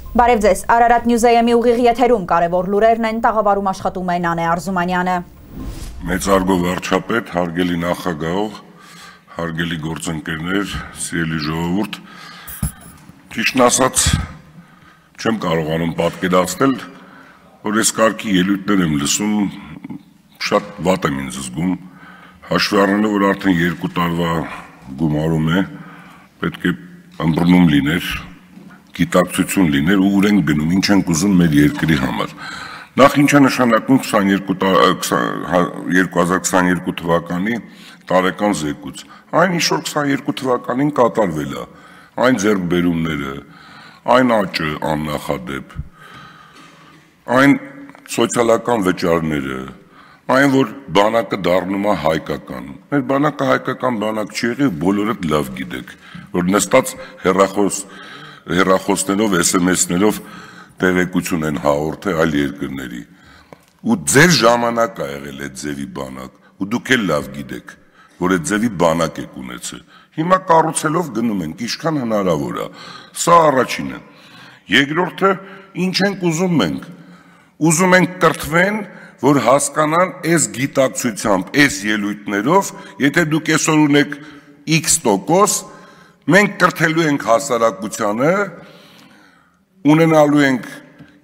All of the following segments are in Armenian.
Բարև ձեզ, Արարատ Նյուզայեմի ուղիղ եթերում կարևոր լուրերն են, տաղավարում աշխատում է Նանե Արզումանյանը։ Մեծարգո վարչապետ, հարգելի նախագահող, հարգելի գործընկերներ, սիրելի ժողովուրդ, ճիշտն ասած, չեմ կարողանում պատկերացնել, որ այս կարգի ելույթներ եմ լսում, շատ վատ եմ ինձ զգում, հաշվի առնելով, որ արդեն 2 տարվա գումարում է, պետք է ըմբռնում լիներ, գիտակցություն լիներ ու ուր ենք գնում, ինչ ենք ուզում մեր երկրի համար։ Նախ ինչ է նշանակում 2022 թվականի տարեկան զեկույց։ Այն ինչ որ 22 թվականին կատարվել է, այն ձեռքբերումները, այն աճը աննախադեպ, այն սոցիալական վճարները, այն որ բանակը դառնում է հայկական։ Մեր բանակը հայկական բանակ չի եղել, բոլորդ լավ գիտեք, որ նստած հեռախոսներով, SMS-ներով տեղեկություն են հաղորդել այլ երկրների։ Ու ձեր ժամանակ ա եղել այդ ձևի բանակ, ու դուք էլ լավ գիտեք, որ այդ ձևի բանակ եք ունեցել։ Հիմա կառուցելով գնում ենք, ինչքան հնարավոր է։ Սա առաջինը։ Երկրորդը, ինչ ենք ուզում մենք։ Ուզում ենք կրթվեն, որ հասկանան այս գիտակցությամբ, այս ելույթներով, եթե դուք այսօր ունեք X%, մենք կրթելու ենք հասարակությանը, ունենալու ենք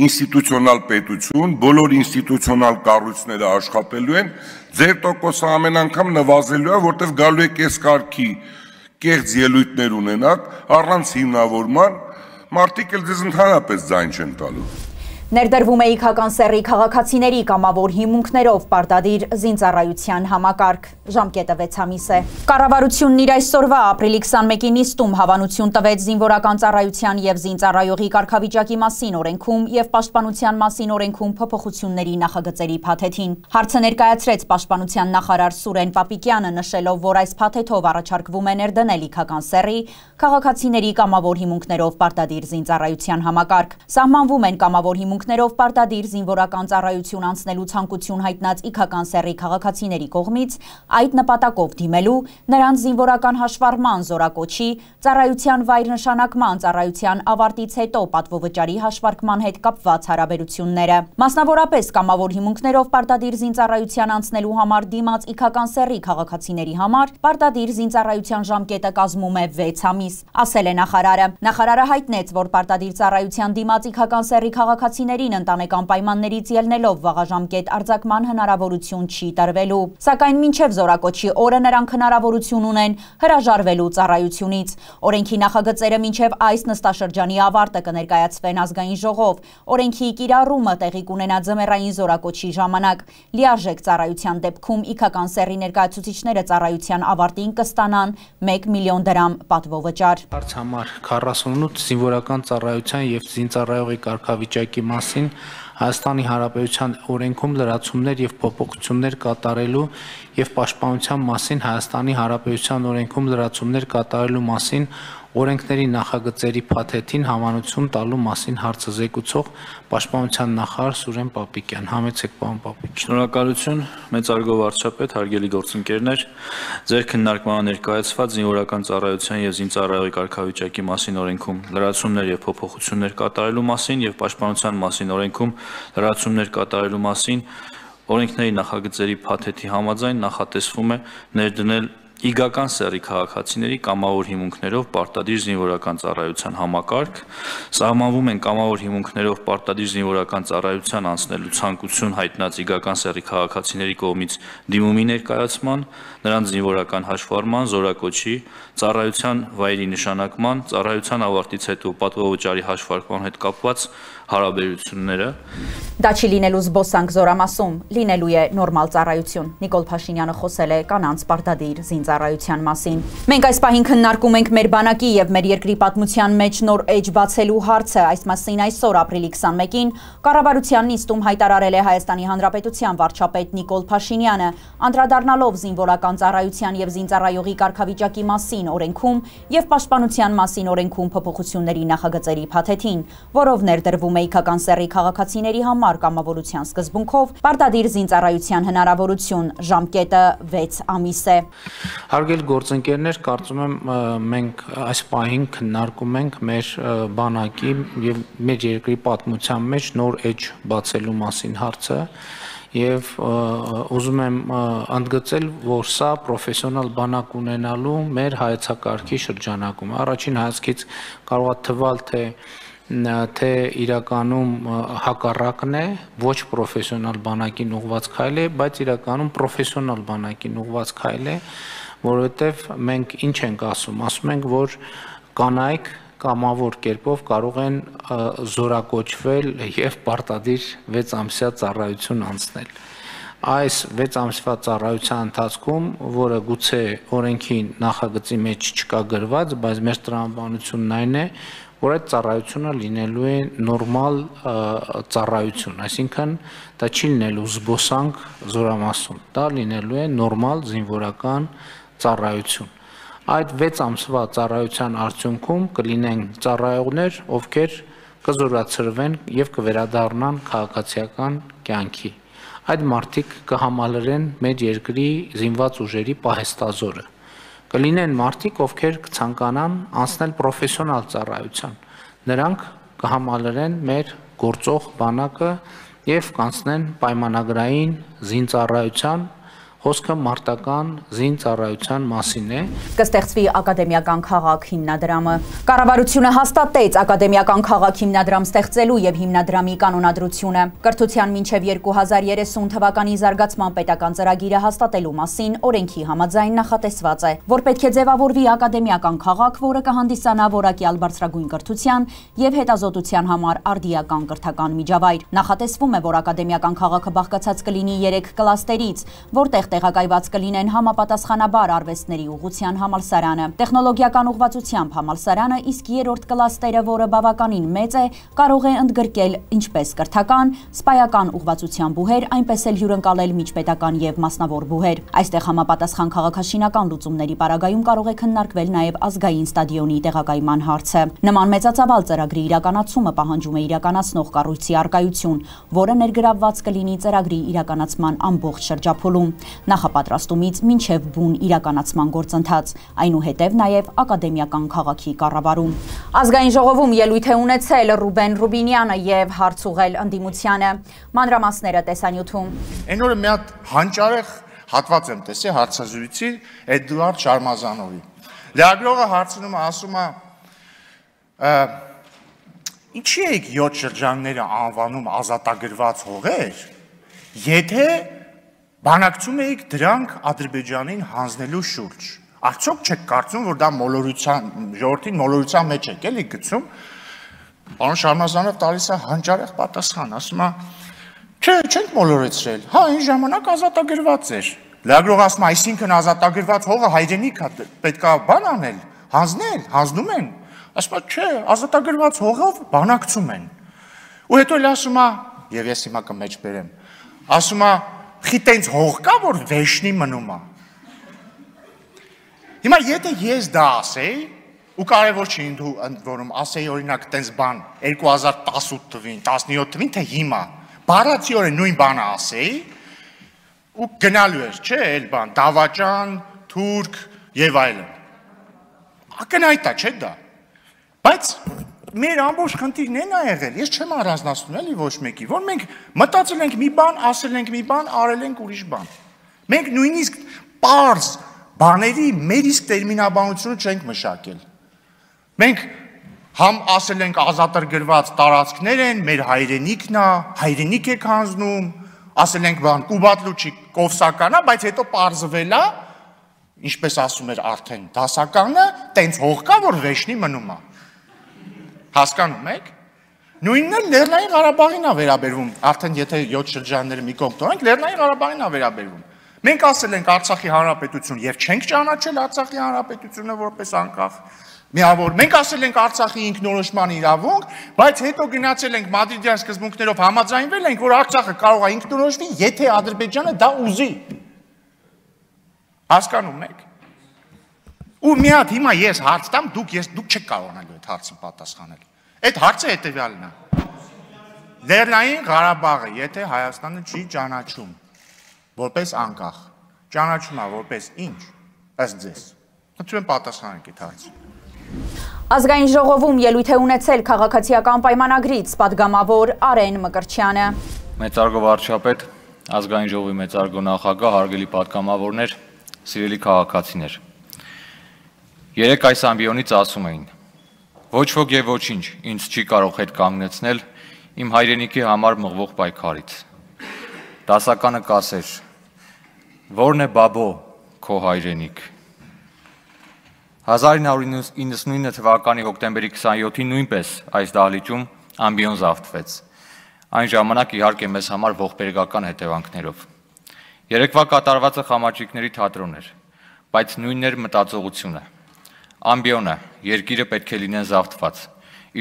ինստիտուցիոնալ պետություն, բոլոր ինստիտուցիոնալ կառույցները աշխատելու են, ձեր տոկոսը ամեն անգամ նվազելու է, որտեղ գալու եք այս կարգի կեղծ ելույթներ ունենաք, առանց հիմնավորման, մարդիկ էլ ձեզ ընդհանրապես ձայն չեն տալու։ Ներդրվում է իգական սեռի քաղաքացիների կամավոր հիմունքներով պարտադիր զինծառայության համակարգ, ժամկետը 6 ամիս է։ Կառավարությունն իր այսօրվա ապրիլի 21-ի նիստում հավանություն տվեց զինվորական ծառայության և զինծառայողի կարգավիճակի մասին օրենքում և պաշտպանության մասին օրենքում փոփոխությունների նախագծերի փաթեթին։ Հարցը ներկայացրեց պաշտպանության նախարար Սուրեն Պապիկյանը, նշելով, որ այս փաթեթով առաջարկվում է ներդնել իգական սեռի քաղաքացիների կամավոր հիմունքներով պարտադիր զինծառայության համակարգ։ Սահմանվում են կամավոր հիմունքներով պարտադիր զինվորական ծառայություն անցնելու ցանկություն հայտնած իգական սեռի քաղաքացիների կողմից այդ նպատակով դիմելու, նրանց զինվորական հաշվառման, զորակոչի, ծառայության վայր նշանակման, ծառայության ավարտից հետո պատվովճարի հաշվարկման հետ կապված հարաբերությունները։ Մասնավորապես կամավոր հիմունքներով պարտադիր զինծառայության անցնելու համար դիմաց իգական սեռի քաղաքացիների համար պարտադիր զինծառայության ժամկետը կազմում է 6 ամիս, ասել է նախարարը։ Նախարարը հայտնեց, որ պարտադիր ծառայության դիմաց իգական սեռի քաղաքացիներին ընտանեկան պայմաններից ելնելով վաղաժամկետ արձակման հնարավորություն չի տրվելու, սակայն մինչև զորակոչի օրը նրանք հնարավորություն ունեն հրաժարվելու ծառայությունից։ Օրենքի նախագծերը մինչև այս նստաշրջանի ավարտը կներկայացվեն ազգային ժողով։ Օրենքի կիրառումը տեղի կունենա ձմեռային զորակոչի ժամանակ։ Լիարժեք ծառայության դեպքում իգական սեռի ներկայացուցիչները ծառայության ավարտին կստանան 1 միլիոն դրամ պատվովճար։ Հարց համար 48 զինվորական ծառայության և զինծառայողի կարգավիճակի մասին Հայաստանի Հանրապետության օրենքում լրացումներ և փոփոխություններ կատարելու և պաշտպանության մասին Հայաստանի Հանրապետության օրենքում լրացումներ կատարելու մասին օրենքների նախագծերի փաթեթին հավանություն տալու մասին հարցը զեկուցող Պաշտպանության նախարար Սուրեն Պապիկյան։ Համեցեք, պարոն Պապիկյան։ Շնորհակալություն, մեծարգո վարչապետ, հարգելի գործընկերներ, ձեր քննարկմանը ներկայացված զինվորական ծառայության և զինծառայողի կարգավիճակի մասին օրենքում լրացումներ և փոփոխություններ կատարելու մասին և պաշտպանության մասին օրենքում լրացումներ կատարելու մասին օրենքների նախագծերի փաթեթի համաձայն նախատեսվում է ներդնել իգական սեռի քաղաքացիների կամավոր հիմունքներով պարտադիր զինվորական ծառայության համակարգ, սահմանվում են կամավոր հիմունքներով պարտադիր զինվորական ծառայության անցնելու ցանկություն հայտնած իգական սեռի քաղաքացիների կողմից դիմումի ներկայացման, նրանց զինվորական հաշվառման, զորակոչի, ծառայության վայրի նշանակման, ծառայության ավարտից հետո պատվովճարի հաշվարկման հետ կապված հարաբերությունները։ Դա չի լինելու զբոսանք զորամասում, լինելու է նորմալ ծառայություն։ Նիկոլ Փաշինյանը խոսել է կանանց պարտադիր զինծառայության մասին։ Մենք այս պահին քննարկում ենք մեր բանակի եւ մեր երկրի պատմության մեջ նոր էջ բացելու հարցը։ Այս մասին այսօր ապրիլի 21-ին կառավարության նիստում հայտարարել է Հայաստանի Հանրապետության վարչապետ Նիկոլ Փաշինյանը, անդրադառնալով զինվորական ծառայության եւ զինծառայողի կարգավիճակի մասին օրենքում եւ պաշտպանության մասին օրենքում փոփոխությունների նախագծերի փաթեթին, որով ներդրվում է Մեյքական սեռի քաղաքացիների համար կամավորության սկզբունքով պարտադիր զինծառայության հնարավորություն, ժամկետը 6 ամիս է։ Հարգելի գործընկերներ, կարծում եմ մենք այս պահին քննարկում ենք մեր բանակի եւ մեր երկրի պատմության մեջ նոր էջ բացելու մասին հարցը եւ ուզում եմ ընդգծել, որ սա պրոֆեսիոնալ բանակ ունենալու մեր հայեցակարգի շրջանակում առաջին հայացքից կարող է թվալ թե իրականում հակառակն է, ոչ պրոֆեսիոնալ բանակին ուղղված քայլ է, բայց իրականում պրոֆեսիոնալ բանակին ուղղված քայլ է, որովհետեւ մենք ինչ ենք ասում ենք, որ կանայք կամավոր կերպով կարող են զորակոչվել եւ պարտադիր 6 ամսյա ծառայություն անցնել։ Այս 6 ամսվա ծառայության ընթացքում, որը գուցե օրենքի նախագծի մեջ չկա գրված, բայց մեր տրամաբանությունն այն է, որ այդ ծառայությունը լինելու է նորմալ ծառայություն, այսինքն դա չի լինելու զբոսանք զորամասում, դա լինելու է նորմալ զինվորական ծառայություն։ Այդ 6 ամսվա ծառայության արդյունքում կլինեն ծառայողներ, ովքեր կզորացրվեն եւ կվերադառնան քաղաքացիական կյանքի։ Այդ մարդիկ կհամալրեն մեր երկրի զինված ուժերի պահեստազորը։ Կլինեն մարդիկ, ովքեր կցանկանան անցնել պրոֆեսիոնալ ծառայության։ Նրանք կհամալրեն մեր գործող բանակը եւ կանցնեն պայմանագրային զինծառայության Խոսքը մարտական զինծառայության մասին է։ Կստեղծվի ակադեմիական քաղաք հիմնադրամը։ Կառավարությունը հաստատեց ակադեմիական քաղաք հիմնադրամ ստեղծելու եւ հիմնադրամի կանոնադրությունը։ Կրթության մինչեւ 2030 թվականի զարգացման պետական ծրագիրը հաստատելու մասին օրենքի համաձայն նախատեսված է, որ պետք է ձևավորվի ակադեմիական քաղաք, որը կհանդիսանա որակյալ բարձրագույն կրթության եւ հետազոտության համար արդիական կրթական միջավայր։ Նախատեսվում է, որ ակադեմիական քաղաքը բաղկացած կլինի 3 կլաստերից, որտեղ տեղակայված կլինեն համապատասխանաբար արվեստների ուղղության համալսարանը, տեխնոլոգիական ուղղվածությամբ համալսարանը, իսկ 3-րդ կլաստերը, որը բավականին մեծ է, կարող է ընդգրկել ինչպես կրթական, սպայական ուղղվածության բուհեր, այնպես էլ հյուրընկալել միջպետական եւ մասնավոր բուհեր։ Այստեղ համապատասխան քաղաքաշինական լուծումների պարագայում կարող է քննարկվել նաեւ ազգային ստադիոնի տեղակայման հարցը։ Նման մեծածավալ ծրագրի իրականացումը պահանջում է իրականացնող կառույցի առկայություն, որը ներգրավված կլինի ծրագրի իրականացման ամբողջ շրջափուլում։ Նախապատրաստումից մինչև բուն իրականացման գործընթաց, այնուհետև նաև ակադեմիական քաղաքի կառավարում։ Ազգային ժողովում ելույթ է ունեցել Ռուբեն Ռուբինյանը եւ հարց ուղղել ընդդիմությանը։ Մանրամասները տեսանյութում։ Այն օրը մի հատ հանճարեղ հատված եմ տեսել հարցազրույցի Էդուարդ Շարմազանովի։ Լրագրողը հարցնում է, ասում է. Ինչի եք 7 շրջանները անվանում ազատագրված հողեր, եթե բանակցում էիք դրանք Ադրբեջանին հանձնելու շուրջ։ Արդյոք չեք կարծում, որ դա ժողովրդին մոլորության մեջ եք էլի գցում։ Պարոն Շարմազանով տալիս է հանճարեղ պատասխան, ասում է. Չէ, չենք մոլորեցրել։ Հա, այն ժամանակ ազատագրված էր։ Լրագրողը ասում է, այսինքն ազատագրված հողը հայրենիք է, պետք է բան անել, հանձնել, հանձնում են։ Ասում է, չէ, ազատագրված հողով բանակցում են։ Ու հետո էլ ասում է, եւ ես հիմա կմեջ բերեմ, ասում է, խիտենց հող կա, որ վեշնի մնում է։ Հիմա եթե ես դա ասեի, ու կարևոր չի որում ասեի օրինակ տենց բան 2018 թվին, 17 թվին, թե հիմա, բառացիորեն նույն բանը ասեի, ու գնալու էր, չէ, էլ բան, դավաճան, թուրք եւ այլն։ Ակնհայտ է, չէ՞ դա։ Բայց մեր ամբողջ խնդիրն են ա եղել, ես չեմ առանձնացնում էլի ոչ մեկի, որ մենք մտածել ենք մի բան, ասել ենք մի բան, արել ենք ուրիշ բան։ Մենք նույնիսկ պարզ բաների մեր իսկ տերմինաբանությունը չենք մշակել։ Մենք համ ասել ենք ազատագրված տարածքներ են, մեր հայրենիքն է, հայրենիք եք հանձնում, ասել ենք բան, Կուբատլուչի կովսական է, բայց հետո պարզվել է, ինչպես ասում էր արդեն դասականը, տենց հող կա, որ վեշնի մնում է։ Հասկանում եք։ Նույնն էլ Լեռնային Ղարաբաղին է վերաբերվում, արդեն եթե 7 շրջանները մի կողմ տոնենք, Լեռնային Ղարաբաղին է վերաբերվում։ Մենք ասել ենք Արցախի Հանրապետություն եւ չենք ճանաչել Արցախի Հանրապետությունը որպես անկախ միավոր։ Մենք ասել ենք Արցախի ինքնորոշման իրավունք, բայց հետո գնացել ենք Մադրիդյան սկզբունքներով համաձայնվել ենք, որ Արցախը կարող է ինքնորոշվի, եթե Ադրբեջանը դա ուզի։ Հասկանում եք։ Ու մի հատ հիմա ես հարց տամ, դուք չեք կարողանալու այդ հարցին պատասխանել։ Այդ հարցը հետևյալն է։ Լեռնային Ղարաբաղը, եթե Հայաստանը չի ճանաչում որպես անկախ, ճանաչում է որպես ինչ, ըստ ձեզ։ Խնդրում եմ պատասխանեք այդ հարցին։ Ազգային ժողովում ելույթ է ունեցել քաղաքացիական պայմանագրից պատգամավոր Արեն Մկրտչյանը։ Մեծարգո վարչապետ, ազգային ժողովի մեծարգո նախագահ, հարգելի պատգամավորներ, սիրելի քաղաքացիներ։ Երեկ այս ամբիոնից ասում էին. ոչ ոք եւ ոչինչ ինձ չի կարող հետ կանգնեցնել իմ հայրենիքի համար մղվող պայքարից։ Դասականը կասեր. որն է բաբո քո հայրենիք։ 1999 թվականի հոկտեմբերի 27-ին նույնպես այս դահլիճում ամբիոն զավթվեց։ Այն ժամանակ իհարկե մեզ համար ողբերգական հետևանքներով։ Երեկվա կատարվածը խամաչիկների թատրոն էր, բայց նույնն էր մտածողությունը։ Ամբիոնը, երկիրը պետք է լինեն զավթված,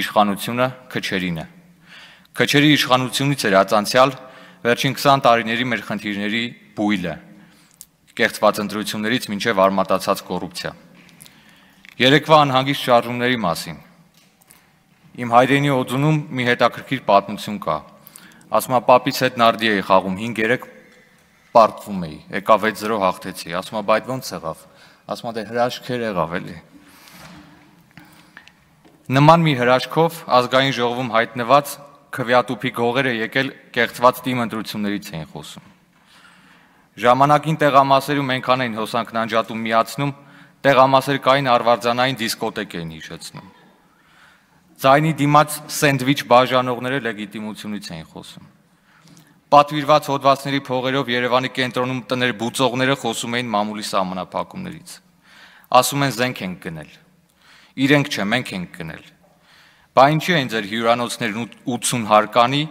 իշխանությունը քչերինը։ Քչերի իշխանությունից էր ածանցյալ վերջին 20 տարիների մեր խնդիրների բույլը, կեղծված ընտրություններից մինչև արմատացած կոռուպցիա։ Երեկվա անհանգիստ շարժումների մասին։ Իմ հայրենի օձունում մի հետաքրքիր պատմություն կա։ Ասում է պապից հետ նարդի էի խաղում 5-3 պարտվում էի, եկա 6-0 հաղթեցի, ասում է բայց ոնց եղավ, ասում է դե հրաշքեր եղավ էլի։ Նման մի հրաշքով ազգային ժողովում հայտնված քվեատուփի գողերը եկել կեղծված թիմ ընտրություններից էին խոսում։ Ժամանակին տեղամասերում այնքան էին հոսանքն անջատում միացնում, տեղամասեր կային արվարձանային դիսկոտեկ էին հիշեցնում։ Ձայնի դիմաց սենդվիչ բաժանողները լեգիտիմությունից էին խոսում։ Պատվիրված հոդվածների փողերով Երևանի կենտրոնում տներ բուծողները խոսում էին մամուլի սահմանափակումներից։ Ասում են զենք ենք գնել։ Իրենք չէ, մենք ենք գնել։ Բա ինչի են ձեր հյուրանոցներն 80 հարկանի,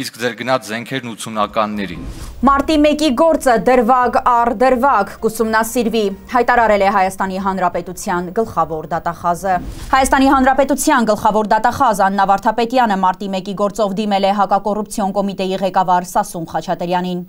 իսկ ձեր գնած զենքերն 80-ականների։ Մարտի 1-ի գործը դրվագ առ դրվագ կուսումնասիրվի, հայտարարել է Հայաստանի Հանրապետության գլխավոր դատախազը։ Հայաստանի Հանրապետության գլխավոր դատախազ Աննա Վարդապետյանը մարտի 1-ի գործով դիմել է հակակոռուպցիոն կոմիտեի ղեկավար Սասուն Խաչատրյանին։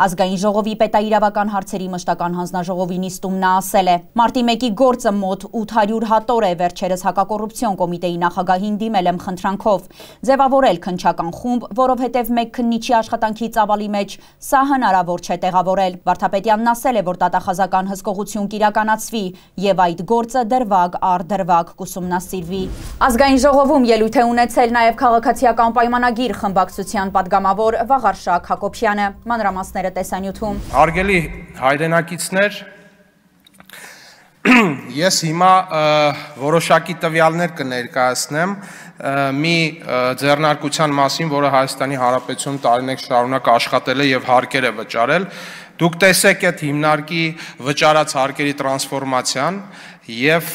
Ազգային ժողովի պետաիրավական հարցերի մշտական հանձնաժողովի նիստում նա ասել է. մարտի 1-ի գործը մոտ 800 հատոր է, վերջերս հակակոռուպցիոն կոմիտեի նախագահին դիմել եմ խնդրանքով ձևավորել քննչական խումբ, որովհետև մեկ քննիչի աշխատանքի ծավալի մեջ սա հնարավոր չէ տեղավորել։ Վարդապետյանն ասել է, որ դատախազական հսկողություն կիրականացվի եւ այդ գործը դրվագ առ դրվագ կուսումնասիրվի։ Ազգային ժողովում ելույթ է ունեցել նաեւ քաղաքացիական պայմանագիր խմբակցության падգամավոր Վաղարշակ Հակոբյանը։ Մանրամասները տեսանյութում։ Հարգելի հայրենակիցներ, ես հիմա որոշակի տվյալներ կներկայացնեմ մի ձեռնարկության մասին, որը Հայաստանի Հանրապետությունում տարիներ շարունակ աշխատել է եւ հարկեր է վճարել։ Դուք տեսեք այդ հիմնարկի վճարած հարկերի տրանսֆորմացիան եւ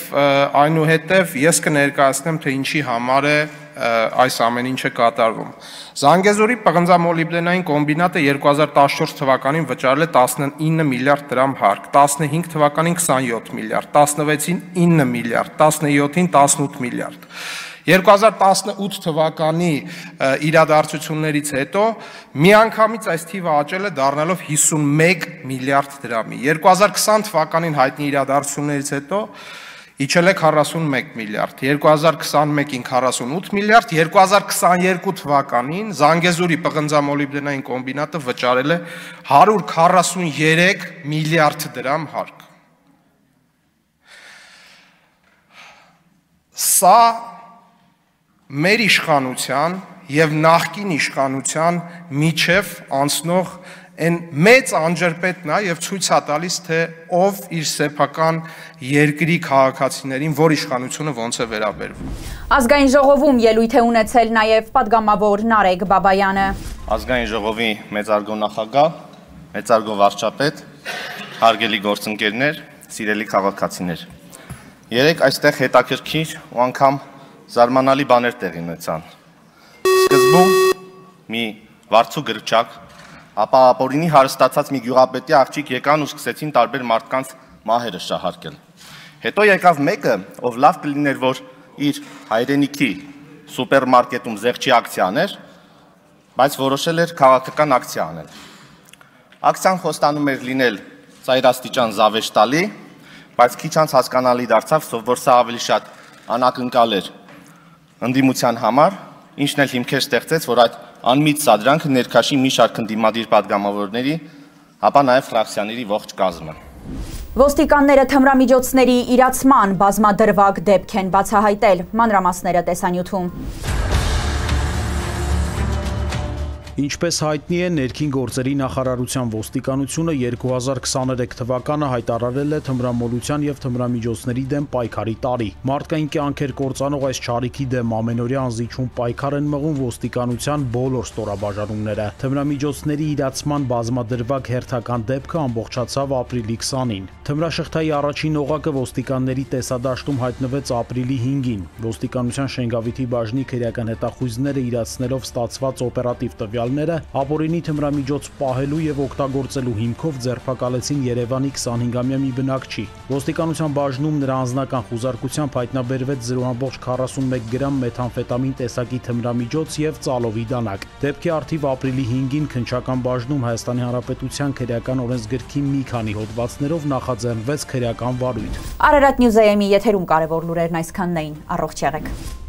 այնուհետեւ ես կներկայացնեմ, թե ինչի համար է այս ամեն ինչը կատարվում։ Զանգեզուրի պղնձամոլիբդենային կոմբինատը 2014 թվականին վճարել է 19 միլիարդ դրամ հարկ, 15 թվականին 27 միլիարդ, 16-ին 9 միլիարդ, 17-ին 18 միլիարդ։ 2018 թվականի իրադարձություններից հետո միանգամից այս թիվը աճել է դառնալով 51 միլիարդ դրամի։ 2020 թվականին հայտնի իրադարձություններից հետո իջել է 41 միլիարդ, 2021-ին 48 միլիարդ, 2022 թվականին Զանգեզուրի պղնձամոլիբդենային կոմբինատը վճարել է 143 միլիարդ դրամ հարկ։ Սա մեր իշխանության եւ նախկին իշխանության միջև անցնող այն մեծ անջրպետն է եւ ցույց է տալիս, թե ով իր սեփական երկրի քաղաքացիներին որ իշխանությունը ոնց է վերաբերվում։ Ազգային ժողովում ելույթ է ունեցել նաեւ падգամավոր Նարեկ Բաբայանը։ Ազգային ժողովի մեծարգո նախագահ, մեծարգո վարչապետ, հարգելի գործընկերներ, սիրելի քաղաքացիներ։ Երեք այստեղ հետաքրքիր ու անգամ զարմանալի բաներ տեղի ունեցան։ Սկզբում մի վարձու գրչակ, ապա ապօրինի հարստացած մի գյուղապետի աղջիկ եկան ու սկսեցին տարբեր մարդկանց մահերը շահարկել։ Հետո եկավ մեկը, ով լավ կլիներ, որ իր հայրենիքի սուպերմարկետում զեղչի ակցիա աներ, բայց որոշել էր քաղաքական ակցիա անել։ Ակցիան խոստանում էր լինել ծայրաստիճան զավեշ տալի, բայց քիչ անց հասկանալի դարձավ, որ սա ավելի շատ անակնկալ էր ընդդիմության համար, ինչն էլ հիմքեր ստեղծեց, որ այդ անմիտ սադրանքը ներքաշի մի շարք ընդդիմադիր պատգամավորների, ապա նաև ֆրակցիաների ողջ կազմը։ Ոստիկանները թմրամիջոցների իրացման բազմադրվակ դեպք են բացահայտել, մանրամասները տեսանյութում։ Ինչպես հայտնի է, ներքին գործերի նախարարության ոստիկանությունը 2023 թվականը հայտարարել է թմրամոլության եւ թմրամիջոցների դեմ պայքարի տարի։ Մարդկային կյանքեր կործանող այս չարիքի դեմ ամենօրյա անզիջում պայքար են մղում ոստիկանության բոլոր ստորաբաժանումները։ Թմրամիջոցների իրացման բազմադրվակ հերթական դեպքը ամբողջացավ ապրիլի 20-ին։ Թմրաշղթայի առաջին օղակը ոստիկանների տեսադաշտում հայտնվեց ապրիլի 5-ին։ Ոստիկանության Շենգավիթի բաժնի քրեական հետախույզները իրացնելով ստացված օպերատիվ տվյալները ապօրինի թմրամիջոց պահելու եւ օգտագործելու հիմքով ձերբակալեցին Երևանի 25-ամյա մի բնակչի։ Ոստիկանության բաժնում նրա անձնական խուզարկությամբ հայտնաբերվեց 0.41 գրամ մեթամֆետամին տեսակի թմրամիջոց եւ ծալովի դանակ։ Դեպքի առթիվ ապրիլի 5-ին քննչական բաժնում Հայաստանի Հանրապետության քրեական օրենսգրքի մի քանի հոդվածներով նախաձեռնվեց քրեական վարույթ։ Արարատ Նյուզ AM-ի եթերում կարևոր լուրերն այսքանն էին։ Առողջ եղեք։